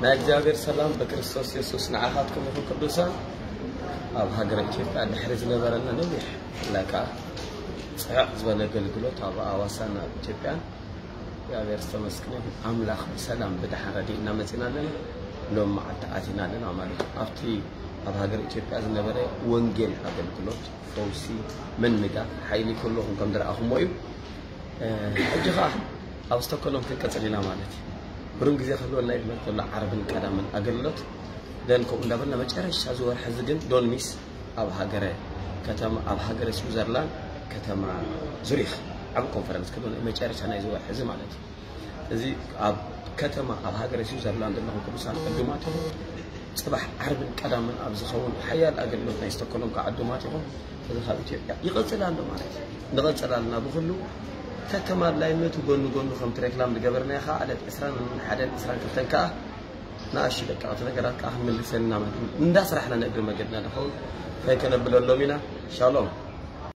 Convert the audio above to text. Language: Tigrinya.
ናይ እግዚኣብሔር ሰላም ብክርስቶስ የሱስ ንዓኻትኩም ይኹን። ቅዱሳን፣ ኣብ ሃገረ ኢትዮጵያ ድሕሪ ዝነበረና ነዊሕ፣ ብፍላይ ከዓ ጽዕቕ ዝበለ ኣገልግሎት ኣብ ኣዋሳን ኣብ ኢትዮጵያን እግዚኣብሔር ዝተመስገነ ይኹን። ኣምላኽ ብሰላም ብደሓን ረዲእና መጺና ኣለና። ሎም መዓልቲ ኣቲና ኣለና ማለት እዩ። ኣብቲ ኣብ ሃገር ኢትዮጵያ ዝነበረ ወንጌል ኣገልግሎት፣ ፈውሲ፣ ምንጋፍ፣ ሓይሊ ኩለኹም ከም ዝረኣኹሞ እዩ። ሕጂ ኸዓ ኣብ ስቶኮሎም ክንቀጽል ኢና ማለት እዩ። ብሩም ግዜ ክህልወና እዩ ዝመጽእ ዘሎ ዓርብን ቀዳምን ኣገልግሎት። ደን ከምኡ እንዳበልና መጨረሻ እዚ ወርሒ እዚ ግን ዶን ሚስ ኣብ ሃገረ ከተማ ኣብ ሃገረ ስዊዘርላንድ ከተማ ዙሪኽ ዓቢ ኮንፈረንስ ክህልወና እዩ መጨረሻ ናይዚ ወርሒ እዚ ማለት እዩ። እዚ ኣብ ከተማ ኣብ ሃገረ ስዊዘርላንድ ዘለኹም ቅዱሳን ዕዱማት ጽባሕ ዓርብን ቀዳምን ኣብ ዝኸውን ሓያል ኣገልግሎት ናይ ስቶኮሎም ከዓ ዕዱማት ኢኹም። እዚ ካብ ኢትዮጵያ ይቐጽል ኣሎ ማለት እዩ። ንቐጽል ኣለና ብኹሉ ተተማድላይነቱ ጎኒ ጎኑ ከምቲ ሬክላም ዝገበርናዮ ከዓ ዕለት ዕስራን ሓደን ዕስራን ክልተን ከዓ ንኣሽቱ ደቀቕቲ ነገራት ከዓ ክንምልሰን ኢና ማለት እዩ። እንዳስራሕና ንእግሪ መገድና ንኸውን ፈይ ከነብለሎም ኢና። ሻሎም።